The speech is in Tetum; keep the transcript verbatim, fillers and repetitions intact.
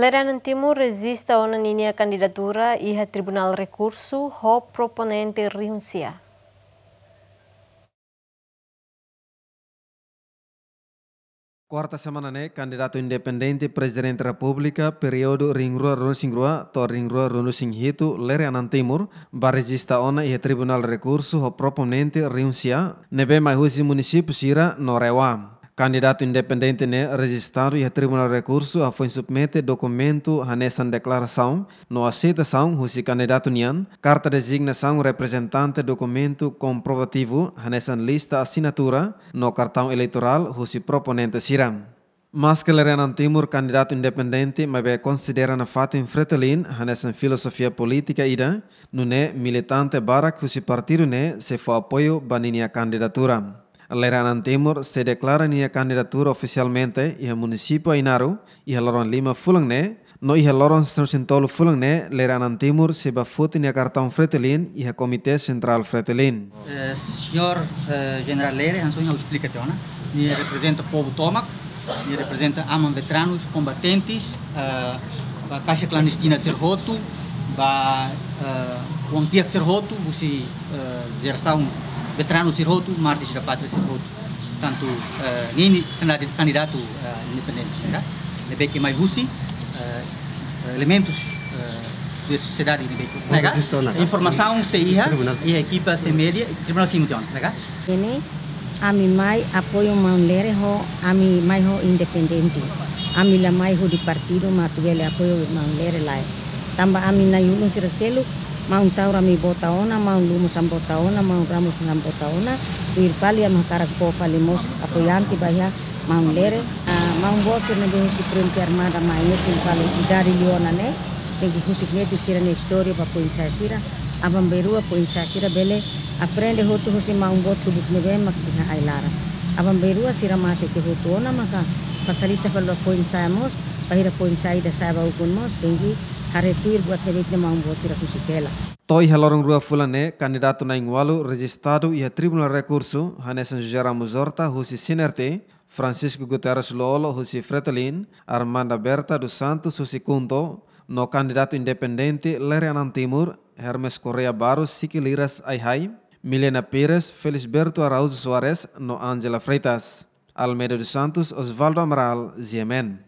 Lere Anan Timur rejista ona ninia kandidatura iha Tribunál Rekursu ho proponente rihun sia. Kuarta semana ne'e, kandidatu independente Prezidente Repúblika períodu rihun rua ruanulu-resin-rua to'o rihun rua ruanulu-resin-hitu, Lere Anan Timur, bá rejista ona iha Tribunál Rekursu ho proponente rihun sia, ne'ebé mai husi munisípiu sira no RAEOA. Kandidatu independente ne'e rejistadu iha Tribunál Rekursu hafoin submete dokumentu hanesan deklarasaun no aseitasaun husi kandidatu nian, karta dezignasaun reprezentante, dokumentu komprovativu hanesan lista asinatura no kartaun eleitorál husi proponente sira. Maske Lere Anan Timur kandidatu independente, maibé konsidera nafatin Fretilin hanesan filozofia polítika ida, nune'e militante barak husi partidu ne'e sei fó apoiu ba ninia kandidatura. Lere Anan Timur sei deklara ninia kandidatura ofisialmente iha munisípiu Ainaro iha loron lima fulan ne'e, no iha loron sanulu-resin-tolu fulan ne'e, Lere Anan Timur sei bá foti nia kartaun Fretilin iha Komité Sentrál Fretilin. Eh, señór, eh, Jenerál Lere, hanesan ohin ha'u esplika tiha ona, nia reprezenta povu tomak, nia reprezenta aman veteranus, kombatentes, eh, ba kaixa klandestina sira hotu, ba, eh, oan-kiak sira hotu, husi, eh, jerasaun veteranus sira hotu, mártires da pátria sira hotu. Tantu, eh, nia ne'e kandida-, kandidatu, eh, independente, ne'e ka? Ne'ebé ke mai husi, eh, elementus, eh, de sosiedade ne'ebé ke, ne'e ka? Informasaun sei iha, iha ekipa sei media, tribunál simu tiha ona, ne'e ka? Ne'e, ami mai apoiu maun Lere ho, ami mai ho independente. Ami la mai hodi partidu atu bele apoiu maun Lere, lae. Tanba ami nai-ulun sira seluk, maun Taur ami vota ona, maun Lumus ami vota ona, maun Ramos ami vota ona, tuir fali ami hakarak fó fali mós apoiante ba iha maun Lere. Ah, maun boot sira ne'ebé husi Frente Armada mai ne'e tuir fali idade liu ona ne'e, tenke husik netik sira-nia istória ba foin-sa'e sira, aban-bainrua foin-sa'e sira bele aprende hotu husi maun boot kubuk ne'ebé mak iha ai-laran. Aban-bainrua sira mate tiha hotu ona maka fasilita fali ba foin-sa'e mós, bainhira foin-sa'e ida sa'e ba ukun mós, tenke haree tuir buat ne'ebé mak maun boot sira husik hela. To'o iha loron rua fulan ne'e, kandidatu na'in-ualu rejistadu iha Tribunál Rekursu, hanesan José Ramos Horta husi CNRT, Francisco Guterres Lú-Olo husi Fretilin, Armanda Berta dos Santos husi KHUNTO, no kandidatu independente Lere Anan Timur, Hermes Correia Barros, Siquiliras Ai-Hai, Milena Pires, Felisberto Araújo Soares, no Ángela Freitas. Almeida dos Santos, Osvaldo Amaral, G M N.